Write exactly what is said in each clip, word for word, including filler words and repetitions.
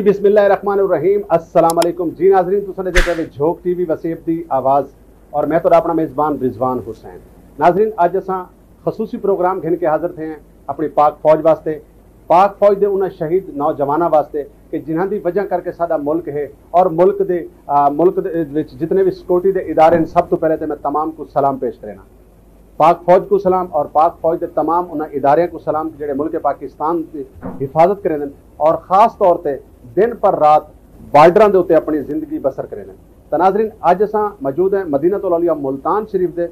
بسم اللہ الرحمن الرحیم۔ السلام علیکم جی ناظرین، تساں ݙیہدے پئے جھوک ٹی وی وسیب دی آواز، اور میں تہاݙا اپݨا میزبان رضوان حسین۔ ناظرین، اڄ اساں خصوصی پروگرام گھن کے حاضر تھئے ہیں اپݨی پاک فوج واسطے، پاک فوج دے انہاں شہید نوجواناں واسطے کہ جنہاں دی وجہ کر کے ساݙا ملک ہے، اور ملک دے آ، ملک دے وچ جتنے بھی سیکورٹی دے ادارے ہیں، سب تو پہلے تے میں تمام کو سلام پیش کرینا۔ پاک فوج کو سلام اور پاک فوج دے تمام انہاں اداریاں کو سلام کہ جڑے ملک پاکستان دی حفاظت کریندن اور خاص طور تے دن پر رات بارڈراں دے اتے اپنی زندگی بسر کریندن۔ تاں ناظرین، اج اساں موجود ہیں مدینہ الاولیاء ملتان شریف دے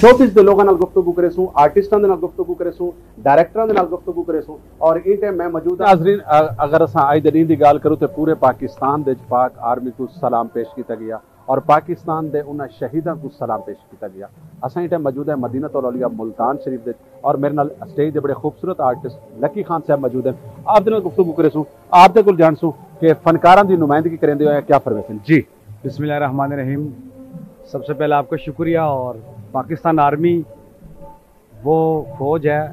شوبز دے لوگاں نال گفتگو کریسوں، آرٹسٹاں دے نال گفتگو کریسوں، ڈائریکٹراں دے نال گفتگو کریسوں، اور ایں ٹائم میں موجود ہاں۔ ناظرین، ا-، اگر اساں اج دے ݙینھ دی ڳالھ کروں تے پورے پاکستان دے وچ پاک آرمی کو سلام پیش کیتا ڳیا اور پاکستان دے انہاں شہیداں کو سلام پیش کیتا ڳیا۔ اساں ایں ٹائم موجود ہیں مدینہ الاولیاء ملتان شریف دے، اور میرے نال اسٹیج دے بڑے خوبصورت آرٹسٹ لکی خان صاحب موجود ہیں۔ آپ دے نال گفتگو کریسوں، آپ دے کول جانسوں کہ فنکاراں دی نمائندگی کریندے ہوئے کیا فرمیسن۔ جی۔ بسم اللہ الرحمن الرحیم۔ سب سے پہلے آپ کا شکریہ۔ اور پاکستان آرمی وہ فوج ہے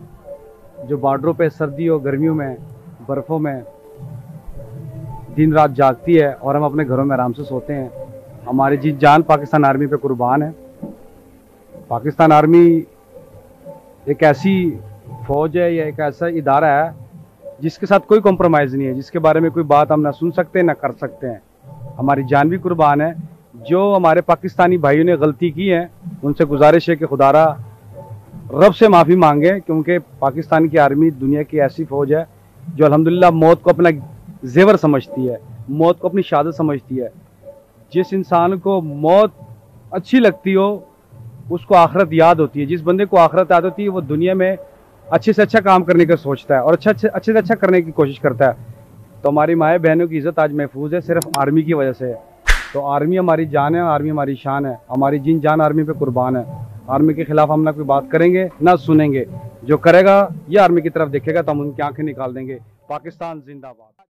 جو بارڈروں پہ سردیوں، گرمیوں میں، برفوں میں دن رات جاگتی ہے اور ہم اپنے گھروں میں آرام سے سوتے ہیں۔ ہماری جی جان پاکستان آرمی پہ قربان ہے۔ پاکستان آرمی ایک ایسی فوج ہے یا ایک ایسا ادارہ ہے جس کے ساتھ کوئی کمپرومائز نہیں ہے، جس کے بارے میں کوئی بات ہم نہ سن سکتے نہ کر سکتے ہیں۔ ہماری جان بھی قربان ہے۔ جو ہمارے پاکستانی بھائیوں نے غلطی کی ہے، ان سے گزارش ہے کہ خدارا رب سے معافی مانگے، کیونکہ پاکستان کی آرمی دنیا کی ایسی فوج ہے جو الحمدللہ موت کو اپنا زیور سمجھتی ہے، موت کو اپنی شہادت سمجھتی ہے۔ جس انسان کو موت اچھی لگتی ہو، اس کو آخرت یاد ہوتی ہے۔ جس بندے کو آخرت یاد ہوتی ہے، وہ دنیا میں اچھے سے اچھا کام کرنے کا سوچتا ہے اور اچھا، اچھے، اچھے سے اچھا کرنے کی کوشش کرتا ہے۔ تو ہماری مائیں بہنوں کی عزت آج محفوظ ہے صرف آرمی کی وجہ سے۔ تو آرمی ہماری جان ہے، آرمی ہماری شان ہے، ہماری جین جان آرمی پہ قربان ہے۔ آرمی کے خلاف ہم نہ کوئی بات کریں گے، نہ سنیں گے۔ جو کرے گا یا آرمی کی طرف دیکھے گا تو ہم ان کی آنکھیں نکال دیں گے۔ پاکستان زندہ باد۔